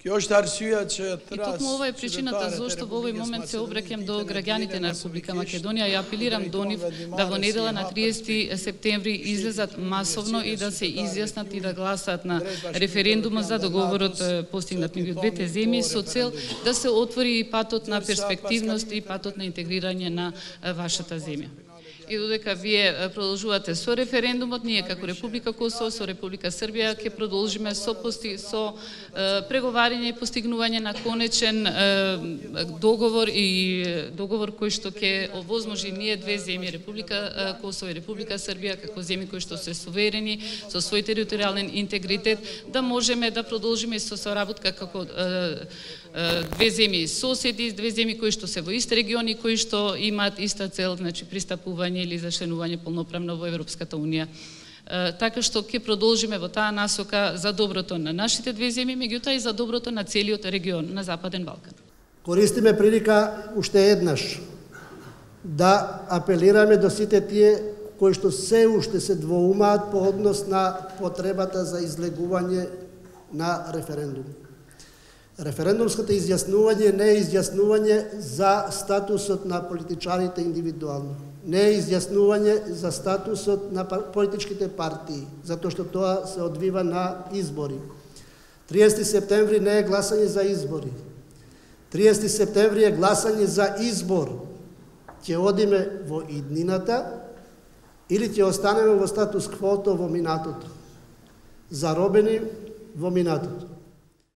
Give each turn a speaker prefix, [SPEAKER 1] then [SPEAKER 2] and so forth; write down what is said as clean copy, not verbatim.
[SPEAKER 1] И токму ова е причината зашто во овој момент се обраќам до граѓаните на Република Македонија и апелирам до нив да во недела на 30 септември излезат масовно и да се изјаснат и да гласаат на референдумот за договорот постигнат меѓу двете земји со цел да се отвори и патот на перспективност и патот на интегрирање на вашата земја. И додека вие продолжувате со референдумот, ние како Република Косово, со Република Србија ќе продолжиме со преговарање и постигнување на конечен договор и договор кој што ќе овозможи ние две земји, Република Косово и Република Србија, како земји кои што се суверени со свој територијален интегритет, да можеме да продолжиме со соработка како две земји соседи, две земји кои што се во ист региони, кои што имаат иста цел, значи пристапување или зачленување полноправно во Европската унија. Така што ќе продолжиме во таа насока за доброто на нашите две земји, меѓутоа и за доброто на целиот регион на Западен Балкан.
[SPEAKER 2] Користиме прилика уште еднаш да апелираме до сите тие кои што се уште се двоумаат по однос на потребата за излегување на референдум. Референдумското изјаснување не е изјаснување за статусот на политичарите индивидуално. Не е изјаснување за статусот на политичките партии, затоа што тоа се одвива на избори. 30 септември не е гласање за избори. 30 септември е гласање за избор. Ќе одиме во иднината или ќе останеме во статус квото во минатото. Заробени во минатото.